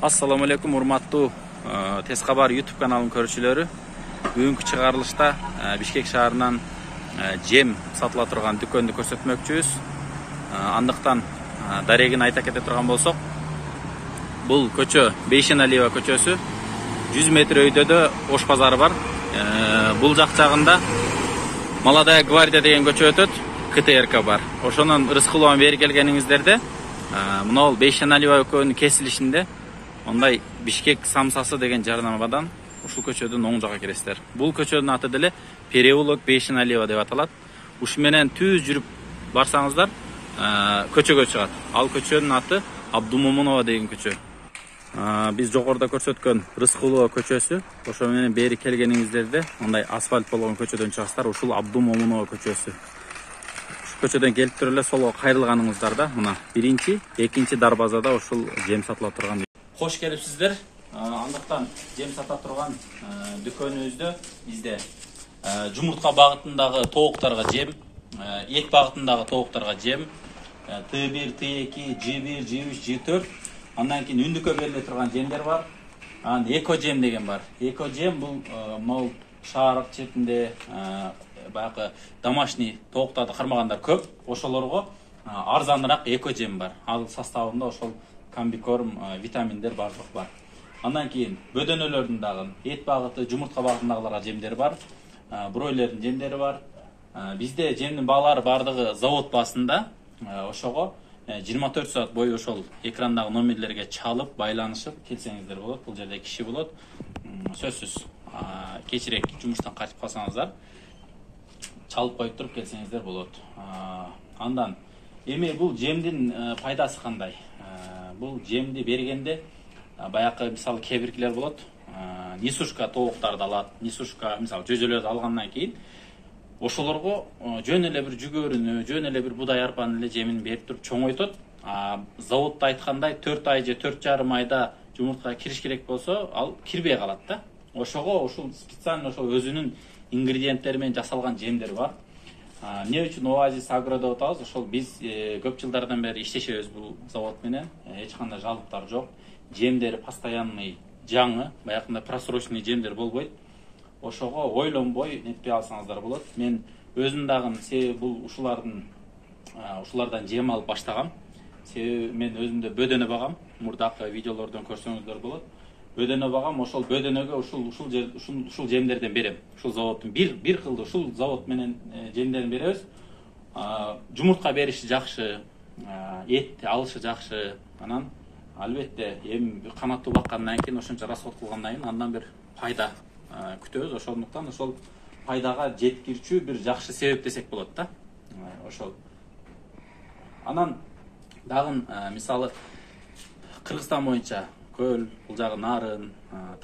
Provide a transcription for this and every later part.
Assalamu alaikum урматтуу Тез кабар YouTube каналынын көрүүчүлөрү. Бүгүнкү чыгарылышта Бишкек шаарынан жем сатыла турган дүкөндү көрсөтмөкчүбүз. Андыктан дарегин айта кете турган болсок, бул көчө Бейшеналиева көчөсү, 100 метр өйдөдө Ош базары бар. Бул жак жагында Молодая гвардия деген көчө өтөт, КТРК бар. Ошонун Рыскуловун бери келгениңиздерде мына Бейшеналиева көчөнүн кесилишинде ондай Бишкек самсасы деген жарнамадан ушул көчөдөн оң жакка киресиздер. Бул көчөнүн аты деле переулок Бейшеналиева деп аталат. Ушу менен түз жүрүп барсаңыздар көчөгө чыгат. Ал көчөнүн аты Абдумомунова деген көчө. Биз жогоруда көрсөткөн Рыскулова көчөсү, ошо менен бери келгениңиздерде мындай асфальт болгон көчөдөн чыгасыздар. Ушул Абдумомунова көчөсү. Ушул көчөдөн келип туруп эле солго кайрылганыңыздарда мына биринчи, экинчи дарбазада ушул жем сатыла турган. Хош келипсиздер. Андыктан жем сата турган дүкөнүбүздө бизде жумуртка багытындагы тооктарга жем, эт багытындагы тооктарга жем, Т1, Т2, G1, G3, G4, андан кийин үндүккө бериле турган жемдер бар. Эко жем деген бар. Эко жем бул могул шаар четинде баягы домашний тооктарды кармагандар көп. Ошолорго арзаныраак эко жем бар. Ал составында ошол комбикорм, витаминдер барлык бар. Андан кийин бөдөнөлөрдүн дагы эт багыты, жумуртка багытындагыларга жемдер бар. Бройлердин жемдери бар. Бизде жемдин баалары бардыгы завод баасында. Ошого 24 саат бою ошол экрандагы номерлерге чалып, байланышып келсеңиздер болот. Бул жерде киши болот. Сөзсүз кечирээк жумуштан кайтып калсаңыздар, чалып коюп туруп келсеңиздер болот. Андан эми бул жемдин пайдасы кандай? Бул жемди бергенде баягы мисалы кээ биркилер болот. Несушка тооктарды алат. Несушка мисалы жөжөлөрдү алгандан кийин ошолорго жөн эле бир жүгөрүнү, жөн эле бир будай арпанын эле жемин берип туруп чоңойтот. Заводдо айткандай 4 ай же 4,5 айда жумуртка кириш керек болсо, ал кирбей калат да. Ошого ушул специально ошол өзүнүн ингредиенттери менен жасалган жемдер бар. Эмне үчүн Оазис Агро деп атабыз? Ошол биз көп жылдардан бери иштешебиз бул завод менен. Эч кандай жалыктар жок. Жемдери постоянный жаңы, баягындай просроченный жемдер болбойт. Ошого ойлонбой нетпей алсаңыздар болот. Мен өзүм дагы себеби бул ушулардан жем алып баштагам. Себеби мен өзүмдө бөдөнө багам. Мурдакы видеолордон көрсөңүздөр болот. Бөдөнө багам, ошол бөдөнөгө ушул жемдерден берем. Ушул заводдун бир кылды ушул завод менен жемдерин беребиз. Жумуртка бериши жакшы, эт алышы жакшы. Анан албетте эми канаттуу баккандан кийин, ошончо расход кылгандан кийин андан бир пайда күтөбүз. Ошондуктан ошол пайдага жеткирчү бир жакшы себеп десек болот да. Ошол. Анан дагы мисалы Кыргызстан боюнча Көл, бул жагы Нарын,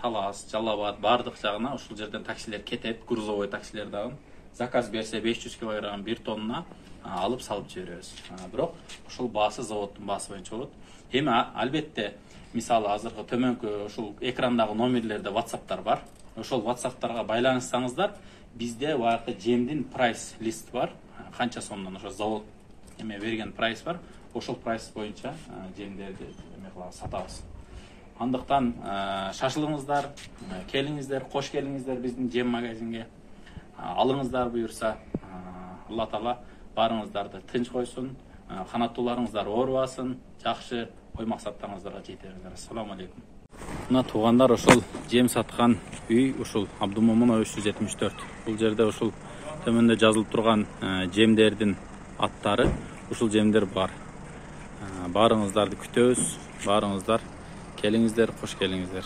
Талас, Жалал Абад бардык жагына ушул жерден таксилер кетет, грузовой таксилер дагы. Заказ берсе 500 кг 1 тонна алып салып жиберебиз. Бирок ушул баасы заводдун баасы боюнча болот. Эми албетте мисалы азыркы төмөнкү ушул экрандагы номерлерде WhatsApp'тар бар. Ошол WhatsApp'тарга байланышсаңыздар, бизде баягы жемдин прайс лист бар. Канча сомдон ошо завод эме берген прайс бар. Ошол прайс боюнча жемдерди эме кылабыз, сатабыз. Андыктан шашылыңыздар, келиңиздер, кош келиңиздер биздин жем магазинге. Алыңыздар буюрса, Алла Таала барыңыздарды тынч койсун, канаттууларыңыздар оорубасын, жакшы ой максаттарыңыздарга жете бериңиздер. Ассаламу алейкум. Мына туугандар, ошол жем саткан үй ушул Абдумомунова 374. Бул жерде ушул төмөндө жазылып турган жемдердин аттары, ушул жемдер бар. Барыңыздарды күтөбүз, барыңыздар, келиңиздер, кош келиңиздер.